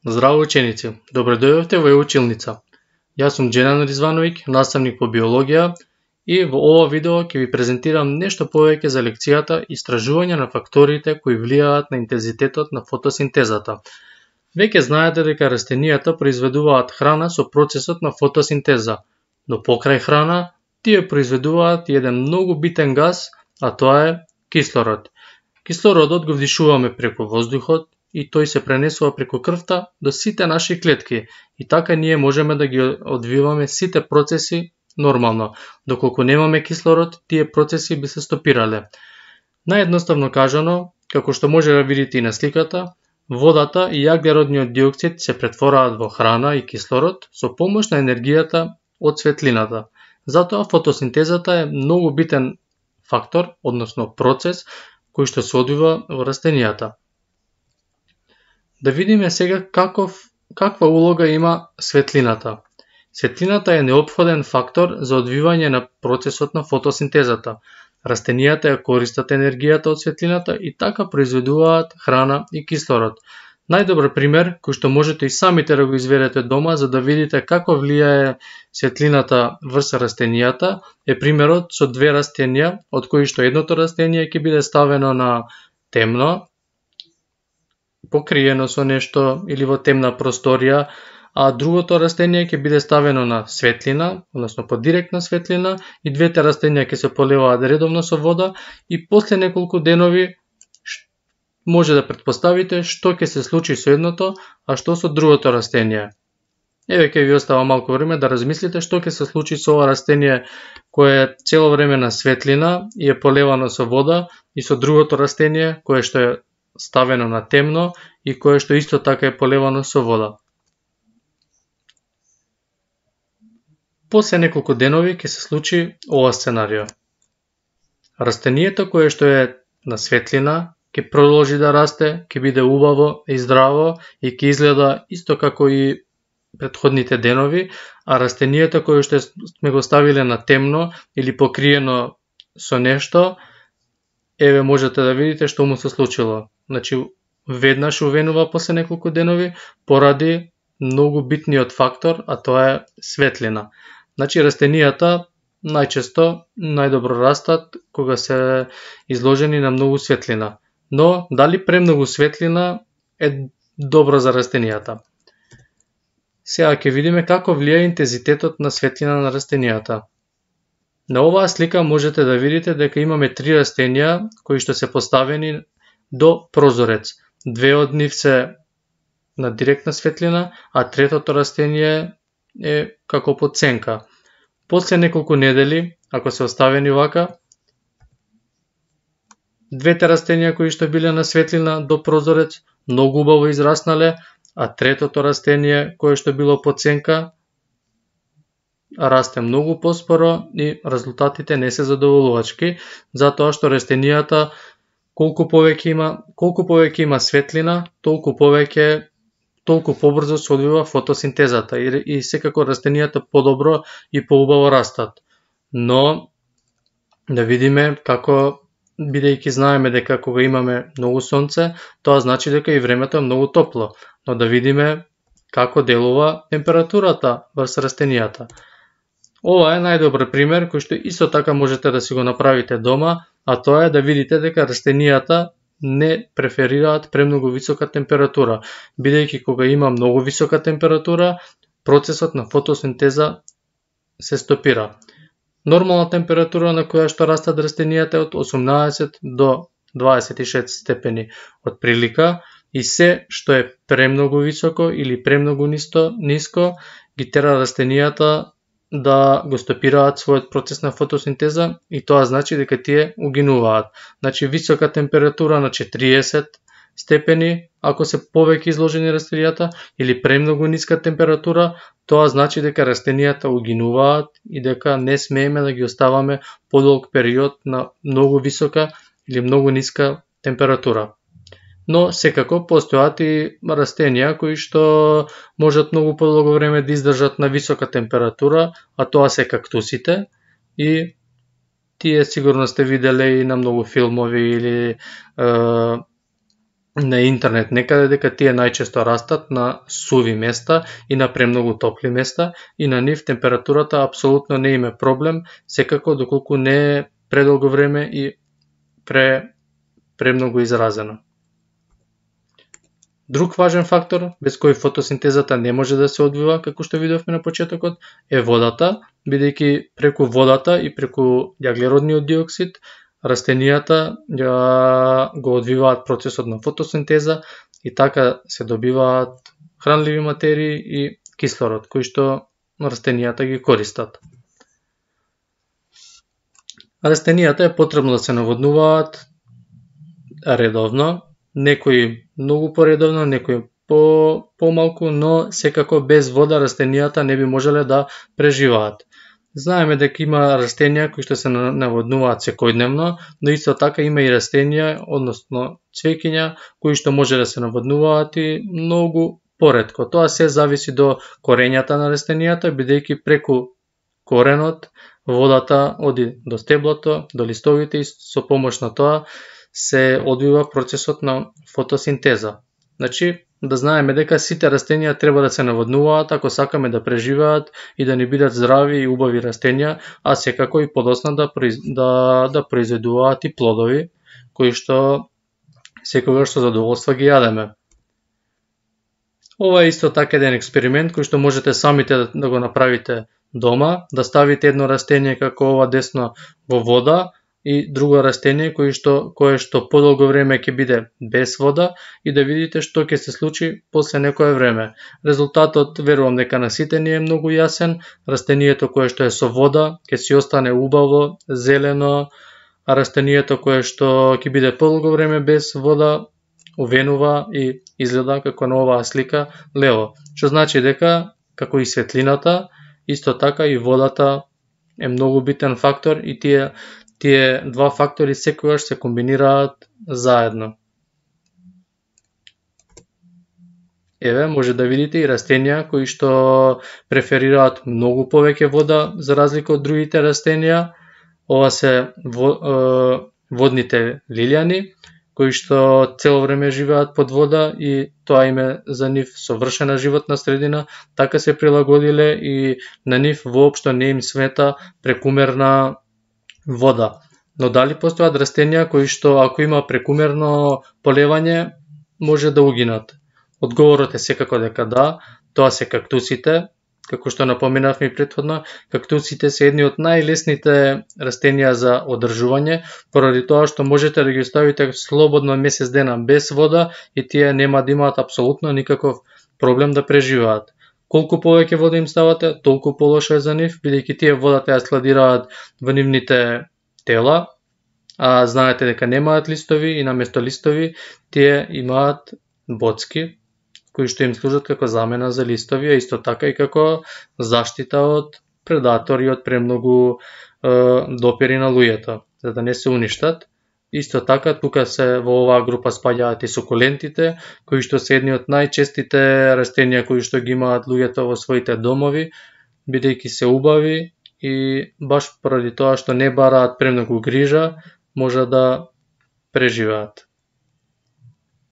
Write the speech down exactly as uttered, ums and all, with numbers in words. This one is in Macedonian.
Здраво ученици, добре дојдовте во e-училница. Јас сум Џенан Ризвановиќ, наставник по биологија и во ова видео ќе ви презентирам нешто повеќе за лекцијата истражување на факторите кои влијаат на интензитетот на фотосинтезата. Веќе знаете дека растенијата произведуваат храна со процесот на фотосинтеза, но покрај храна тие произведуваат еден многу битен газ, а тоа е кислород. Кислородот го вдишуваме преку воздухот и тој се пренесува преку крвта до сите наши клетки и така ние можеме да ги одвиваме сите процеси нормално. Доколку немаме кислород, тие процеси би се стопирале. Наједноставно кажано, како што може да видите и на сликата, водата и јаглеродниот диоксид се претвораат во храна и кислород со помош на енергијата од светлината. Затоа фотосинтезата е многу битен фактор, односно процес, кој што се одвива во растенијата. Да видиме сега каков, каква улога има светлината. Светлината е неопходен фактор за одвивање на процесот на фотосинтезата. Растенијата ја користат енергијата од светлината и така произведуваат храна и кислород. Најдобар пример, кој што можете и самите да го изведете дома за да видите како влијае светлината врз растенијата, е примерот со две растенија, од кои што едното растение ќе биде ставено на темно, покриено со нешто или во темна просторија, а другото растение ќе биде ставено на светлина, односно под директна светлина, и двете растенија ќе се поливаат редовно со вода и после неколку денови може да претпоставите што ќе се случи со едното, а што со другото растение. Еве ќе ви остава малку време да размислите што ќе се случи со ова растение кое е цело време на светлина и е полевано со вода и со другото растение кое што е ставено на темно и кое што исто така е полевано со вода. После неколку денови ќе се случи ова сценарио. Растението кое што е на светлина ќе продолжи да расте, ќе биде убаво и здраво и ќе изгледа исто како и претходните денови, а растението кое што сме го ставиле на темно или покриено со нешто, еве можете да видите што му се случило. Значи, веднаш увенува после неколку денови поради многу битниот фактор, а тоа е светлина. Значи, растенијата најчесто најдобро растат кога се изложени на многу светлина. Но, дали премногу светлина е добро за растенијата? Сега ќе видиме како влијае интензитетот на светлина на растенијата. На оваа слика можете да видите дека имаме три растенија кои што се поставени до прозорец. Две од нив се на директна светлина, а третото растение е како под сенка. После неколку недели, ако се оставени вака, двете растенија кои што биле на светлина до прозорец многу убаво израснале, а третото растение кое што било под сенка расте многу поспоро и резултатите не се задоволувачки, затоа што растенијата колку повеќе има, колку повеќе има светлина, толку повеќе толку побрзо се одвива фотосинтезата и, и секако растенијата подобро и поубаво растат. Но да видиме како, бидејќи знаеме дека кога имаме многу сонце, тоа значи дека и времето е многу топло, но да видиме како делува температурата врз растенијата. Ова е најдобар пример кој што исто така можете да си го направите дома, а тоа е да видите дека растенијата не преферираат премногу висока температура, бидејќи кога има многу висока температура, процесот на фотосинтеза се стопира. Нормална температура на која што растат растенијата е од осумнаесет до дваесет и шест степени од прилика и се што е премногу високо или премногу ниско, ниско ги тера растенијата да го стопираат својот процес на фотосинтеза и тоа значи дека тие угинуваат. Значи висока температура на четириесет степени, ако се повеќе изложени растенијата, или премногу ниска температура, тоа значи дека растенијата угинуваат и дека не смееме да ги оставаме подолг период на многу висока или многу ниска температура. Но секако постојат и растенија кои што можат многу подолго време да издржат на висока температура, а тоа се кактусите и тие сигурно сте виделе и на многу филмови или е, на интернет некаде дека тие најчесто растат на суви места и на премногу топли места и на нив температурата апсолутно не им е проблем, секако доколку не е предолго време и пре премногу изразено. Друг важен фактор без кој фотосинтезата не може да се одвива, како што видовме на почетокот, е водата, бидејќи преку водата и преку јаглеродниот диоксид растенијата го одвиваат процесот на фотосинтеза и така се добиваат хранливи материи и кислород, кои што растенијата ги користат. Растенијата е потребно да се наводнуваат редовно, некои многу поредовно, некои по помалку, но секако без вода растенијата не би можеле да преживеат. Знаеме дека има растенија кои што се наводнуваат секојдневно, но исто така има и растенија, односно цвеќиња, кои што може да се наводнуваат и многу поретко. Тоа се зависи до корењата на растенијата, бидејќи преку коренот водата оди до стеблото, до листовите и со помош на тоа се одвива процесот на фотосинтеза. Значи, да знаеме дека сите растенија треба да се наводнуваат ако сакаме да преживеат и да ни бидат здрави и убави растенија, а секако и подосна да, да, да произведуваат и плодови, кои што секогаш со задоволство ги јадеме. Ова е исто така еден експеримент кој што можете самите да го направите дома, да ставите едно растение како ова десно во вода, и друго растение кое што кое што подолго време ќе биде без вода и да видите што ќе се случи после некое време. Резултатот верувам дека на сите ни е многу јасен. Растението кое што е со вода ќе си остане убаво, зелено, а растението кое што ќе биде подолго време без вода увенува и изгледа како на оваа слика лево. Што значи дека како и светлината, исто така и водата е многу битен фактор и тие Тие два фактори секогаш се комбинираат заедно. Еве, може да видите и растенија кои што преферираат многу повеќе вода за разлика од другите растенија. Ова се водните лилјани, кои што цело време живеат под вода и тоа им е за нив совршена животна средина, така се прилагодиле и на нив воопшто не им смета прекумерна вода. Но дали постојат растенија кои што ако има прекумерно полевање може да угинат? Одговорот е секако дека да, тоа се кактусите, како што напоменавме и претходно. Кактусите се едни од најлесните растенија за одржување, поради тоа што можете да ги оставите слободно месец дена без вода и тие нема да имаат апсолутно никаков проблем да преживеат. Колку повеќе вода им ставате, толку полошо е за нив, бидејќи тие водата ја складираат во нивните тела, а знаете дека немаат листови и наместо листови тие имаат боцки, кои што им служат како замена за листови, а исто така и како заштита од предатори, од премногу е, допири на луѓето, за да не се уништат. Исто така, тука се во оваа група спаѓаат и сукулентите, кои што се едни од најчестите растенија кои што ги имаат луѓето во своите домови, бидејќи се убави и баш поради тоа што не бараат премногу грижа, може да преживеат.